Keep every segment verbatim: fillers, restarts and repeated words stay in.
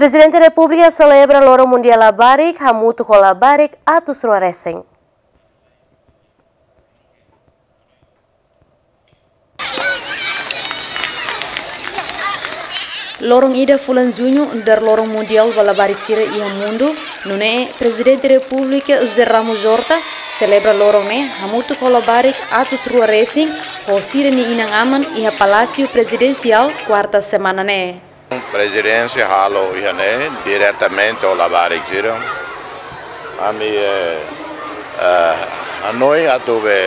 Prezidente Repúblika selebra Loron Mundiál Labarik hamutuk ho labarik atus rua resin. Loron ida fulan Juñu nu'udar Loron Mundiál ba Labarik sira iha mundu, nune'e Prezidente Repúblika José Ramos Horta selebra loron ne'e hamutuk ho labarik atus rua resin ho sira-nia inan-aman iha Palásiu Prezidensiál, kuarta semana ne'e. Prezidénsia halo iha ne'e diretamente ho labarik sira. Ami, eh, eh, hanoin atu be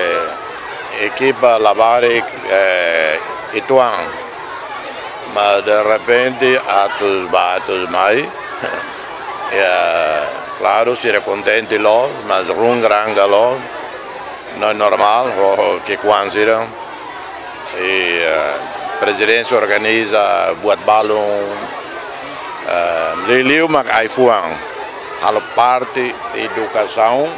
ekipa labarik, eh, uitoan. Mas derrepente atus bá atus mai. Ya, klaru, sira kontente loos, mas runguranga loos. No normál, ho, ho ki'ikoan sira. I, eh, prezidénsia organiza buat balun, eh, liuliu mak ai-fuan. Halo parte edukasaun,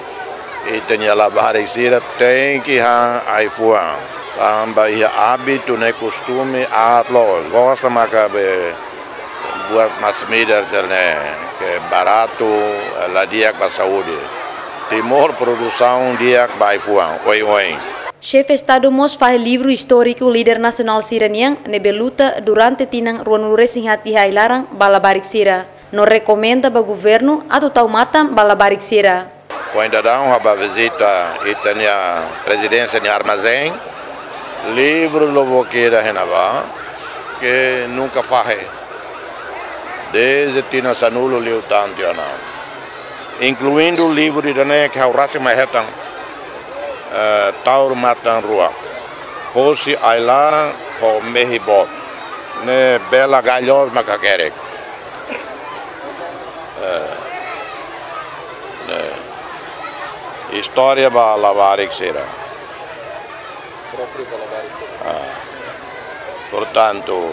ita-nia labarik sira tenke han ai-fuan. Tanba iha ábitu ne'e kostume aat loos. Gosta maka be buat masin-midar sira-ne'e, ke baratu, la di'ak ba saúde. Timor produsaun di'ak ba ai-fuan, oioin. Xefe Estadu mós fahe livru istóriku líder nasionál sira-nian ne'ebé luta durante tinan ruanulu resin haat iha ai-laran ba labarik sira. No rekomenda ba governu atu tau matan ba labarik sira. Foin daudaun ha'u bá vizita ita-nia prezidénsia nia armazén. Livru lubuk ida iha ne'ebá, ke nunka fahe. Dezde tinan sanulu liután tiha ona. Inkluindu livru ida-ne'e ke ha'u rasik mai hetan. Eh, Taur Matan Ruak. Hosi ai-laran ho mehi boot. Ne'e bela gai loos mak hakerek. Eh, ne'e. Istória ba labarik sira. Própriu ba labarik sira. Ah. Portantu,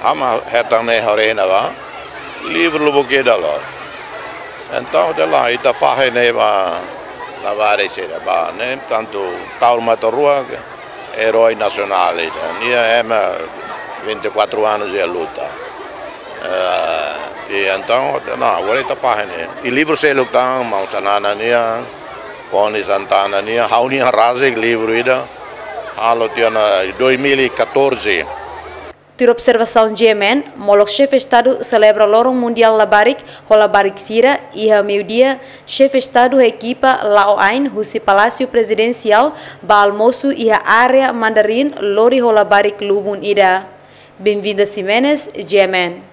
ami hetan ne'e haree iha ne'ebá, livru lubuk ida loos. Entaun, de la, ita fahe ne'e ba labarik sira ba, ne'e tantu Taur Matan Ruak, erói nasionál ida. Nia ema vinte e quatro anos iha luta. Eh, i entaun, no, agora ita fahe ne'e. I livru seluk tan, Maun Xanana nian, Konis Santana nian, ha'u-nian rasik livru ida. Halo tiha ona dois mil e catorze. Tuir observasaun G M N, molok Xefe Estadu selebra Loron Mundiál Labarik ho labarik sira, iha meiudia, Xefe Estadu ho ekipa la'o ain husi Palásiu Prezidensiál ba almosu iha área Mandarin lori ho labarik lubun ida. Benvinda Ximenes, G M N.